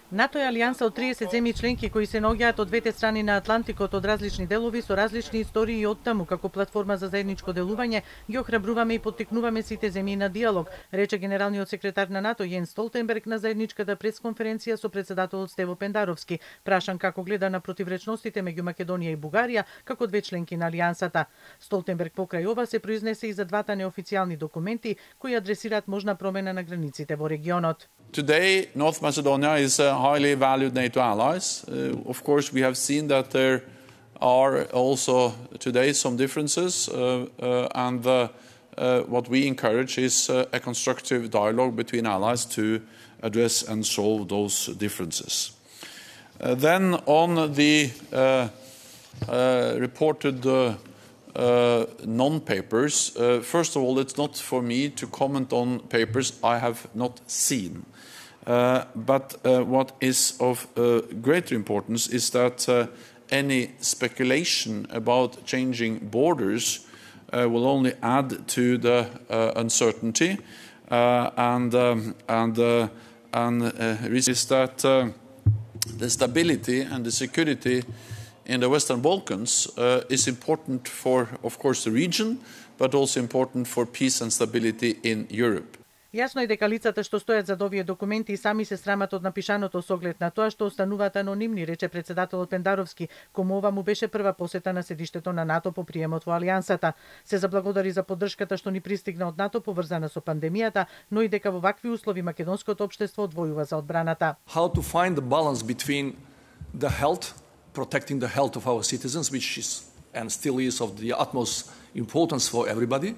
НАТО е алијанса од 30 земји членки кои се наоѓаат од двете страни на Атлантикот од различни делови со различни истории и оттаму како платформа за заедничко делување ги охрабруваме и поттикнуваме сите земји на диалог, рече генералниот секретар на НАТО Јенс Столтенберг на заедничката пресконференција со претседателот Стево Пендаровски, прашан како гледа на противречностите меѓу Македонија и Бугарија како две членки на алијансата. Столтенберг покрај ова се произнесе и за двата неофицијални документи кои адресираат можна промена на границите во регионот. Today, North Macedonia is a highly valued NATO ally. Of course, we have seen that there are also today some differences, and what we encourage is a constructive dialogue between allies to address and solve those differences. Then on the reported non-papers, first of all, it's not for me to comment on papers I have not seen. But what is of greater importance is that any speculation about changing borders will only add to the uncertainty, and risk is that the stability and the security in the Western Balkans is important for, of course, the region, but also important for peace and stability in Europe. Јасно е дека лицата што стојат зад овие документи и сами се срамат од напишаното со оглед на тоа што остануваат анонимни, рече претседателот Пендаровски, кому ова му беше прва посета на седиштето на НАТО по приемот во алијансата. Се заблагодари за поддршката што ни пристигна од НАТО поврзана со пандемијата, но и дека во вакви услови македонското општество одвојува за одбраната. How to find the balance between the health, protecting the health of our citizens, which is and still is of the utmost importance for everybody,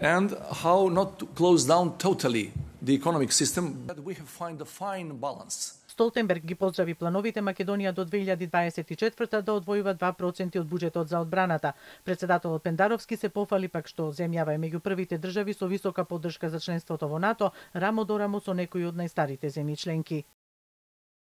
and how not to close down totally the economic system, but we have find a fine balance. Столтенберг ги поздрави плановите Македонија до 2024 да одвојува 2% од буџетот за одбраната. Претседателот Пендаровски се пофали пак што земјава е меѓу првите држави со висока поддршка за членството во НАТО, рамо до рамо со некои од најстарите земји членки.